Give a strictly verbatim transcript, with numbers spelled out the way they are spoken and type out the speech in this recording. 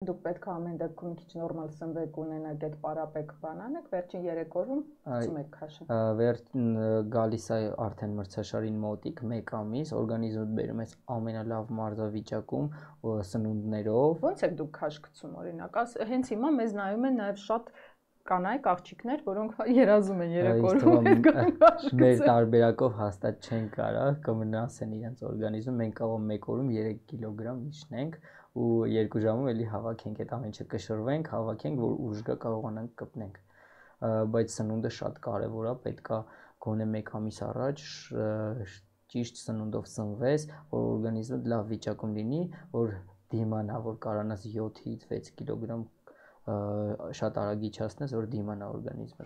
Դուք պետք է ամեն դեպքում քիչ նորմալ սնվեք ունենաք այդ պարապեք բանանեք, վերջին երեք օրում գցում եք քաշը։ Վերջ գալիս է արդեն մրցաշարին մոտիկ մեկ ամիս, օրգանիզմը բերում է ամենալավ մարզավիճակում սնունդներով։ Ո՞նց եք դուք քաշ գցում օրինակ, հենց հիմա մեզ նայում են նաև շատ կանայք, աղջիկներ, որոնք երազում են երեք օրում մեր տարբերակով հաստատ չեն կարող, կմնասեն իրենց օրգանիզմում, մենք կարող մեկ օրում երեք կիլոգրամ իջնենք ու երկու ժամում էլի հավաքենք այդ ամեն ինչը կշռվենք, հավաքենք, որ ուժ գա կարողանանք կպնենք։ Բայց սնունդը շատ կարևոր է, պետք է գոնե մեկ ամիս առաջ ճիշտ սնունդով սնվես, որ օրգանիզմը լավ վիճակում լինի, որ դիմանա, որ կարողանաս յոթից վեց կիլոգրամ շատ արագ իջացնես, որ դիմանա օրգանիզմը։